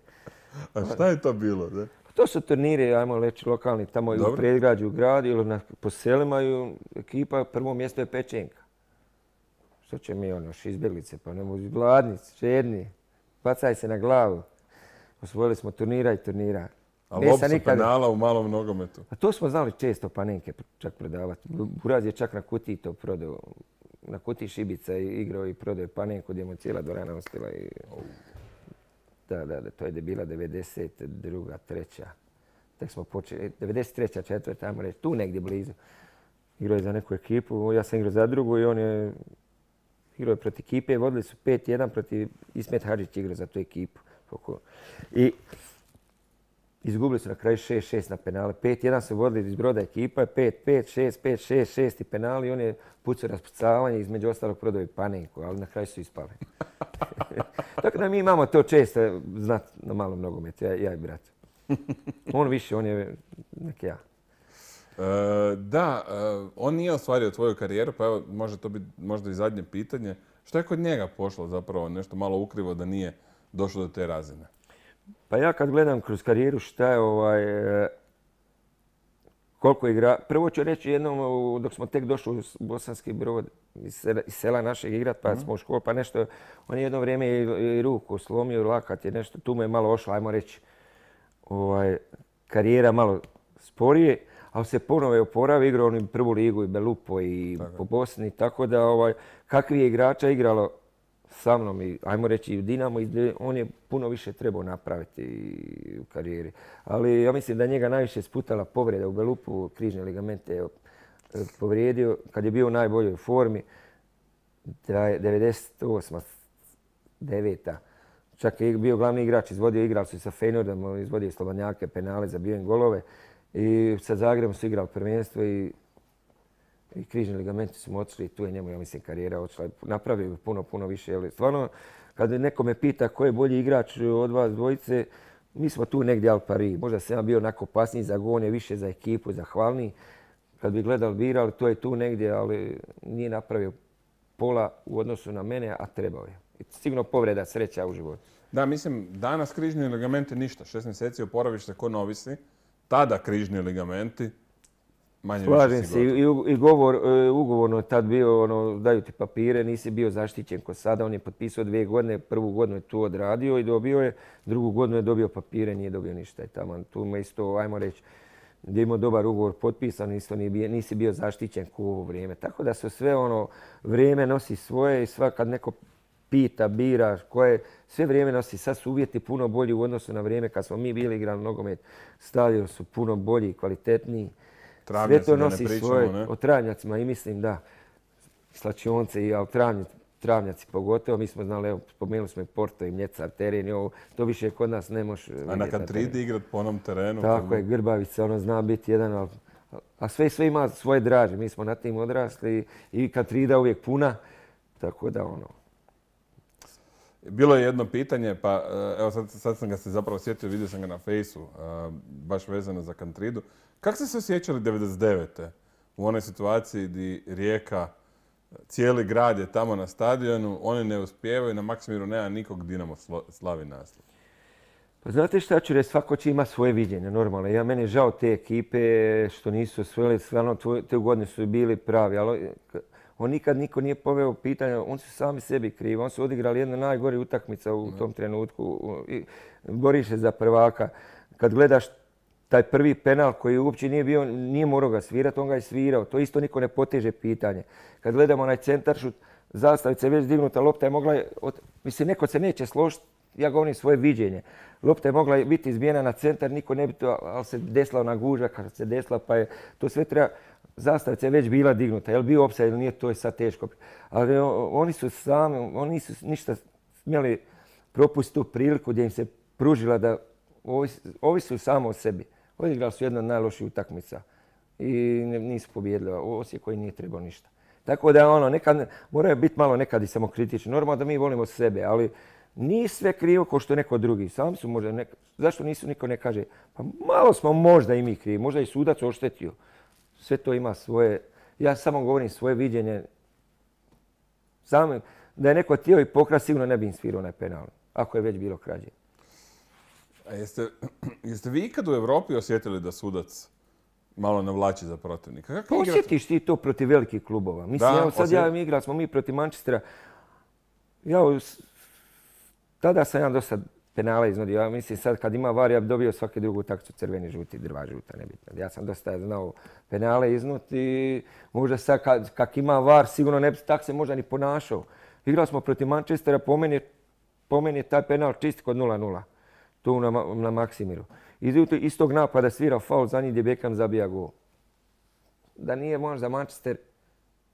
A šta je to bilo? Ne? To su turniri, ajmo reći, lokalni, tamo Dobro. u predgrađu, u gradu ili na, po selima i ekipa, prvo mjesto je pečenka. Što će mi ono, izbjeglice, pa ne mogu, gladnici, žedni, bacaj se na glavu. Osvojili smo turnira i turnira. A lob sa nikad... penala u malom nogometu? A to smo znali često panenke čak prodavati. Buraz je čak na kutiji to prodao. Na kutiji šibica i igrao i prodao panenku gdje mu cijela dvorana ostila. I... Oh. Da, da, da, to je bila devedeset druga, treća. Tek smo počeli, devedeset treća, četvrta, ajmo reći, tu negdje blizu. Igrao je za neku ekipu, ja sam igrao za drugu i on je igrao je protiv ekipe. Vodili su pet jedan protiv Ismet Hadžić igrao za tu ekipu. I izgubili su na kraju šest šest na penale. pet jedan su vodili iz Broda ekipa, pet pet, šest pet, šest šest i penali. On je pucao raspucavanje, između ostalog prodao i panenku, ali na kraju su ispali. Tako da mi imamo to često znat na malom nogometu, ja, ja i brat. On više, on je nek ja. E, da, e, on nije ostvario tvoju karijeru, pa evo, može to biti možda i zadnje pitanje. Što je kod njega pošlo zapravo nešto malo ukrivo da nije došlo do te razine? Pa ja kad gledam kroz karijeru šta je ovaj... Koliko igra... Prvo ću reći jednom, dok smo tek došli u Bosanski Brod iz sela našeg igrat, pa smo u školu, pa nešto... On je jedno vrijeme i ruku slomio, i lakat je nešto, tu mu je malo ošlo, ajmo reći, ovaj, karijera malo sporije, ali se ponovo je oporavio, igrao on i prvu ligu i Belupo i tako. Po Bosni, tako da ovaj, kakvi je igrača igralo sa mnom i, ajmo reći, i u Dinamo, on je puno više trebao napraviti u karijeri. Ali ja mislim da njega najviše sputala povreda u Belupu, križne ligamente je povrijedio kad je bio u najboljoj formi. devedeset osma deveta Čak je bio glavni igrač, izvodio igrali su sa Feynordom, izvodio slobodnjake, penale, zabio im golove. I sa Zagrebom su igrali prvenstvo i i križni ligamenti su mu otišli i tu je njemu, ja mislim, karijera otišla. Napravio bi puno, puno više. Jer stvarno, kad neko me pita ko je bolji igrač od vas dvojice, mi smo tu negdje al pari. Možda sam ja bio onako opasniji za gone, više za ekipu, zahvalniji. Kad bi gledali, birali, to je tu negdje, ali nije napravio pola u odnosu na mene, a trebao je. I sigurno povreda, sreća u životu. Da, mislim, danas križni ligamenti ništa. Šest mjeseci oporaviš se ko novisi. Tada križni ligamenti manje Slažem više se. I, i govor, ugovorno je tad bio, ono, daju ti papire, nisi bio zaštićen ko sada. On je potpisao dvije godine, prvu godinu je tu odradio i dobio je, drugu godinu je dobio papire, nije dobio ništa. I tamo, tu me isto, ajmo reći, gdje je imao dobar ugovor potpisan, isto nisi bio zaštićen ku ovo vrijeme. Tako da se sve ono vrijeme nosi svoje i svakad neko pita, bira, koje sve vrijeme nosi. Sad su uvjeti puno bolji u odnosu na vrijeme kad smo mi bili igrali nogomet. Stadion su puno bolji, kvalitetniji. Sve to nosi svoje. O travnjacima i mislim da slačionce i travnjaci pogotovo. Mi smo znali, evo, spomenuli smo i Porto i Mljecar, teren i ovo. To više kod nas ne može vidjeti. A na Kantridi igrat po onom terenu? Tako je, Grbavica, ono zna biti jedan, a sve sve ima svoje draže. Mi smo na tim odrasli i Kantrida uvijek puna. Tako da ono... Bilo je jedno pitanje, pa evo sad, sad sam ga se zapravo sjetio, vidio sam ga na fejsu, baš vezano za Kantridu. Kako ste se osjećali devedeset devete u onoj situaciji gdje Rijeka, cijeli grad je tamo na stadionu, oni ne uspijevaju, na Maksimiru nema nikog, Dinamo slavi naslov? Pa znate šta ću reći, svako će ima svoje viđenje, normalno. Ja, meni je žao te ekipe što nisu osvojili, stvarno te godine su bili pravi, ali on nikad niko nije poveo pitanje, oni su sami sebi krivi. Oni su odigrali jedna najgori utakmica u tom trenutku. Boriš se za prvaka. Kad gledaš taj prvi penal koji uopće nije bio, nije morao ga svirati, on ga je svirao. To isto niko ne poteže pitanje. Kad gledamo onaj centaršut, zastavica je već dignuta, lopta je mogla... Mislim, neko se neće složiti, ja govorim svoje viđenje. Lopta je mogla biti izbijena na centar, niko ne bi to, ali se desila ona guža kad se desila, pa je to sve treba... Zastavica je već bila dignuta. Je li bio opsaj ili nije, to je sad teško. Ali oni su sami, oni nisu ništa smjeli propustiti tu priliku gdje im se pružila da ovisi samo o sebi. Odigrali su jedna od najloših utakmica i nisu pobijedili. Osijek koji nije trebao ništa. Tako da ono, nekad, moraju biti malo nekad i samokritični. Normalno da mi volimo sebe, ali nije sve krivo kao što je neko drugi. Sami su možda, neka, zašto nisu, niko ne kaže, pa malo smo možda i mi krivi, možda i sudac oštetio. Sve to ima svoje, ja samo govorim svoje viđenje. Samo da je neko htio i pokrat, sigurno ne bi im svirao onaj penal, ako je već bilo krađe. A jeste, jeste vi ikad u Europi osjetili da sudac malo navlači za protivnika? Kako osjetiš ti to protiv velikih klubova? Mislim, da, evo, sad osjet... ja igrali smo mi protiv Manchestera. Ja, tada sam ja dosta penale iznudio. Ja mislim sad kad ima var, ja bi dobio svaki drugu utakmicu crveni, žuti, drva, žuta, nebitno. Ja sam dosta znao penale iznuti i možda sad kad, kad ima var, sigurno ne bi tak se možda ni ponašao. Igrali smo protiv Manchestera, po meni, po meni je taj penal čist kod nula nula. Tu na, na Maksimiru. Iz tog napada svirao faul za njih gdje Beckham zabija gol. Da nije možda Manchester,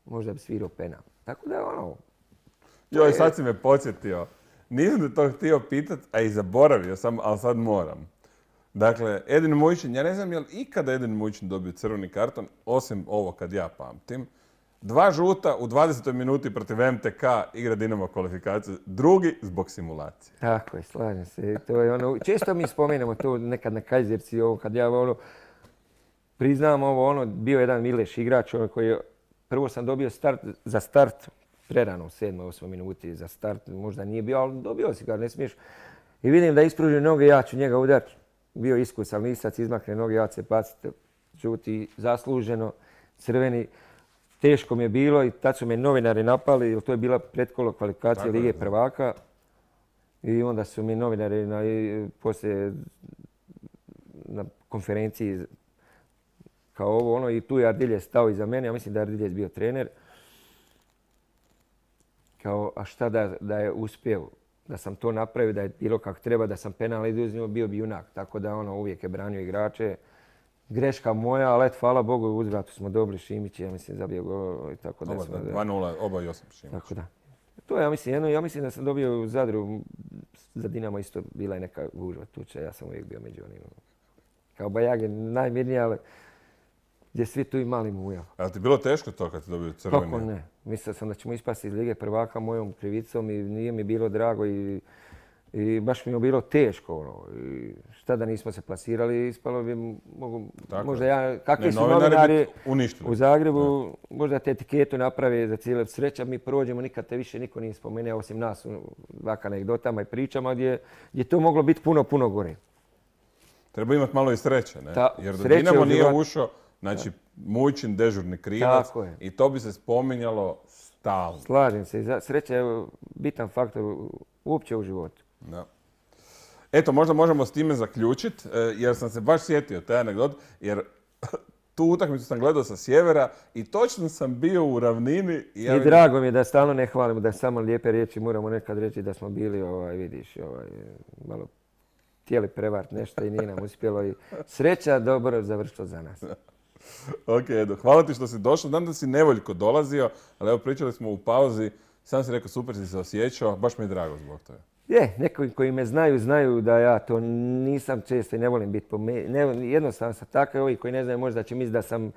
možda bi svirao penal. Tako da ono... Joj, sad si me podsjetio. Nisam da to htio pitat, a i zaboravio sam, ali sad moram. Dakle, Edin Mujičin, ja ne znam je li ikada Edin Mujičin dobio crveni karton, osim ovo kad ja pamtim. Dva žuta u dvadesetoj minuti protiv M T K igra Dinamo kvalifikaciju, drugi zbog simulacije. Tako je, slažem se. To je ono, često mi spomenemo to nekad na Kajzerci, ovo kad ja ono, priznam ovo, ono, bio jedan Mileš igrač, ono koji je, prvo sam dobio start, za start, prerano u sedmoj, osmoj minuti za start, možda nije bio, ali dobio si ga, ne smiješ. I vidim da ispruži noge, ja ću njega udariti. Bio iskusan lisac, izmakne noge, ja ću se paciti, žuti, zasluženo, crveni. Teško mi je bilo i tad su me novinari napali, jer to je bila pretkolo kvalifikacija Lige prvaka. I onda su mi novinari na, poslije na konferenciji kao ovo, ono, i tu je Ardilje stao iza mene, ja mislim da je Ardilje bio trener. Kao, a šta da, da je uspio, da sam to napravio, da je bilo kako treba, da sam penal izuzio, bio bi junak. Tako da ono, uvijek je branio igrače. Greška moja, ali eto, hvala Bogu, u uzvratu smo dobili Šimić, ja mislim, zabio go i tako da smo... dva nula, oba i osam Šimić. Tako da. To je, ja mislim, jedno, ja mislim da sam dobio u Zadru, za Dinamo isto bila je neka gužva tuča, ja sam uvijek bio među onim. Kao Bajage, najmirniji, ali gdje svi tu imali muja. A ti bilo teško to kad ti dobio crveni? Kako ne? Mislio sam da ćemo ispasti iz Lige prvaka mojom krivicom i nije mi bilo drago i, i baš mi je bilo teško. Ono. I šta da nismo se plasirali, ispalo bi mogu, možda ja, kakvi ne, su novinari u Zagrebu, ne. Možda te etiketu naprave za cijele sreća, mi prođemo, nikad te više niko nije spomenuo, osim nas u ovak anegdotama i pričama gdje je to moglo biti puno, puno gore. Treba imati malo i sreće, ne? Ta, jer da Dinamo nije ušao, znači Mujičin dežurni krivac i to bi se spominjalo stalno. Slažem se, sreća je bitan faktor uopće u životu. Da. Eto, možda možemo s time zaključiti, jer sam se baš sjetio taj anegdot, jer tu utakmicu sam gledao sa sjevera i točno sam bio u ravnini. I, ja I vidim... drago mi je da stalno ne hvalimo, da samo lijepe riječi moramo nekad reći da smo bili, ovaj, vidiš, ovaj, malo htjeli prevart nešto i nije nam uspjelo. I sreća dobro završilo za nas. Ok, Edo, hvala ti što si došao. Znam da si nevoljko dolazio, ali evo pričali smo u pauzi. Sam si rekao super si se osjećao, baš mi je drago zbog toga. Je, neki koji me znaju, znaju da ja to nisam često i ne volim biti pomenut. Jednostavno sam takav, ovi koji ne znaju možda će misliti da sam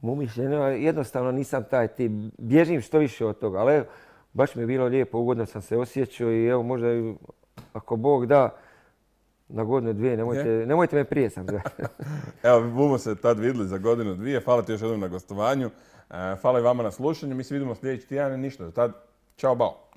umišljen, jednostavno nisam taj tip. Bježim što više od toga, ali evo, baš mi je bilo lijepo, ugodno sam se osjećao i evo možda ako Bog da, na godinu dvije, nemojte, nemojte me prije sam. Evo, bumo se tad vidjeli za godinu dvije. Hvala ti još jednom na gostovanju. Hvala i vama na slušanju. Mi se vidimo sljedeći tjedan i ništa. Do tad, čao, bao.